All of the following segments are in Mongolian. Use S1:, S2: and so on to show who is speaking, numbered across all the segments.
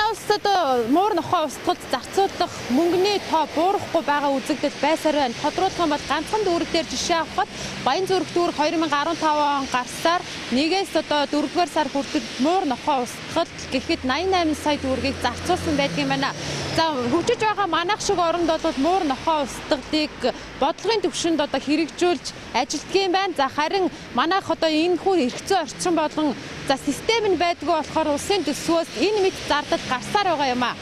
S1: Манай улс одоо муур нохой устгад зарцуулах мөнгөний тоо буурахгүй байгаа үзэгдэл байсаар байна. Тодруулах юм бол ганцхан дүүрэг дээр жишээ авахад Баянзүрх дүүрэг 2015 он гарсаар нэгээс одоо 4-р сар хүртэл муур нохой устгад гэхэд 88 сая төгрөгийг зарцуулсан байдаг юм байна. За хөгжиж байгаа манайх шиг оронд бол муур нохой устгадыг бодлогын төвшөнд одоо хэрэгжүүлж ажилтдаг юм байна. За харин манайх одоо энэ хүү эрхцэн орчин болон за систем нь байдгүй болохоор улсын төсвөөс энэ мэд зардал гарсаар байгаа юм а.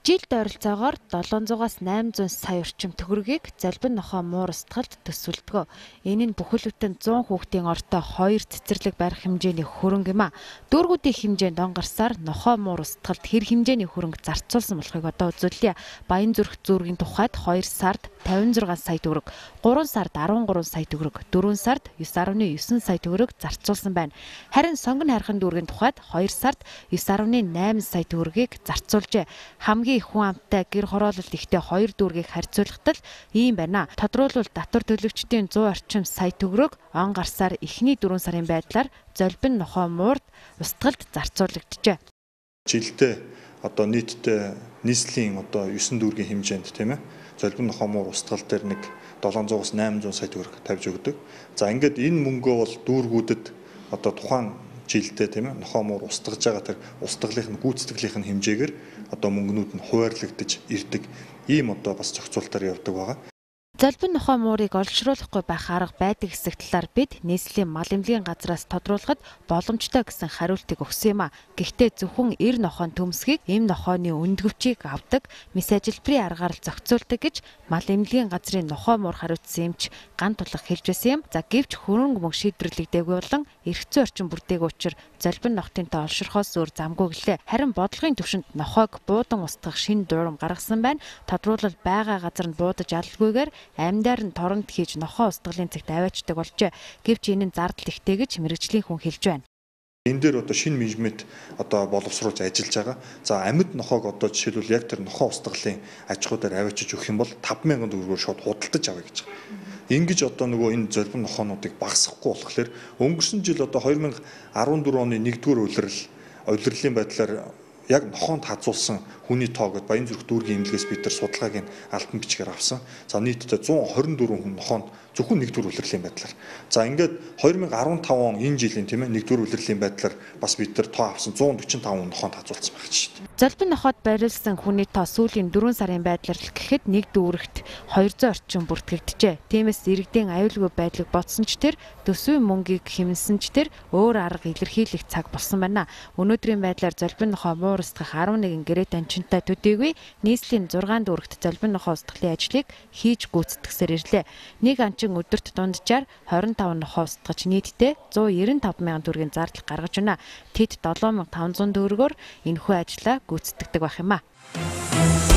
S1: Жилд ойролцоогоор 700-аас 800 сая орчим төгрөгийг Залбин нохой муур устгалд төсвөлдөг. Энэ нь бүхэл бүтэн 100 хүүхдийн ортой 2 цэцэрлэг барих хэмжээний хөрөнгө юм а. Дүүргүүдийн хэмжээнд он гарсаар нохой муур устгалд хэр хэмжээний хөрөнгө зарцуулсан болохыг одоо үзүүлье. Баянзүрх зүүргийн тухайд 2 сард 56 сая төгрөг, 3 сард 13 сая төгрөг, 4 сард 9.9 сая төгрөг зарцуулсан байна. Харин Сонгон хайрхан дүүргийн тухайд 2 сард 9.8 сая төгрөгийг зарцуулжээ. Хамгийн их хүн амтай гэр хороололт ихтэй 2 дүүргийг харьцуулахад ийм байна. Тодруулбал татвар төлөгчдийн 100 орчим сая төгрөг он гарсаар эхний 4 сарын байдлаар Залбин нохой муурд устгалд зарцуулагджээ.
S2: Жилдээ одоо нийтдээ нийслэлийн одоо 9 дүүргийн хэмжээнд тийм ээ Залбин нохой муур устгал дээр нэг 700-аас 800 сая төгрөг тавьж өгдөг. За ингээд энэ мөнгөө бол дүүргүүдэд одоо тухайн жилдээ тийм ээ нохой муур устгаж байгаа тэр устгалын гүйцэтгэлийнх нь хэмжээгээр одоо мөнгнүүд нь хуваарлагдаж ирдэг ийм одоо бас зохицуултаар явдаг байгаа.
S1: Залбин нохой муурыг олшруулахгүй байх арга байдаг хэсэг талаар бид нийслэлийн мал эмнэлгийн газраас тодруулахад боломжтой гэсэн хариултыг өгсөн юм а. Гэхдээ зөвхөн 90 нохойн төмсгийг эм нохойны өндгөвчийг авдаг, мис ажилбарын аргаар л зохицуулдаг гэж мал эмнэлгийн газрын нохой муур хариуцсан эмч Ган Тулах хэлж байсан юм. За гэвч хөрөнгө мөнгө шийдвэрлэгдээгүй болон эрхцэн орчин бүрдээг учраас Залбин нохтын тоо олширхоос өөр замгүй гэлээ. Харин бодлогын төвшөнд нохойг буудан устгах шинэ дуурам гаргасан байна. Тодруулбал байгаа газар нь буудаж алгүйгээр амьдаар нь торонд хийж нохой устгалын цагт аваачдаг болжээ. Гэвч энэ нь зардал ихтэй гэж мэргэжлийн хүн хэлж байна.
S2: Энэ дээр одоо шинэ менежмент одоо боловсруулж ажиллаж байгаа. За амьд нохойг одоо жишээлбэл яг тэр нохой устгалын аж ахуйдаар аваачиж өгөх юм бол 5,000 төгрөгөөр шууд худалдаж авъя гэж байгаа. Ингэж одоо нөгөө энэ Залбин нохойнуудыг багасгахгүй болохоор өнгөрсөн жил одоо 2014 оны 1-р улирлын байдлаар яг нохоонд хазуулсан хүний тоо гэд Баянзүрх дүүргийн эмнэлгээс бид нар судалгааг нь алтан бичгээр авсан. За нийтдээ 124 хүн нохоонд зөвхөн 1-р улирлын байдлаар. За ингээд 2015 он энэ жилийн тийм ээ 1-р улирлын байдлаар бас бид нар тоо авсан 145 хүн нохоонд хазуулсан байна шүү дээ.
S1: Залбин нохойд бариулсан хүний тоо сүүлийн 4 сарын байдлаар л гэхэд нэг дүүрэгт 200 орчим бүртгэгджээ. Тиймээс иргэдийн аюулгүй байдлыг бодсон ч тэр төсвийн мөнгийг хэмнсэн ч тэр өөр арга илэрхийлэх цаг болсон байна. Өнөөдрийн байдлаар Залбин нохой муур устгах 11 гэрээ данчинтай төдийгүй нийслэлийн 6 дүүрэгт Залбин нохой устгалын ажлыг хийж гүйцэтгсээр ирлээ. Нэг анчин өдөрт дунджаар 25 нохой устгаж нийтдээ 195,000 төгрөгийн зардал гаргаж байна. Тэд 7,500 төгрөгөөр энэхүү ажлаа гүйцэтгэдэг байх юм а.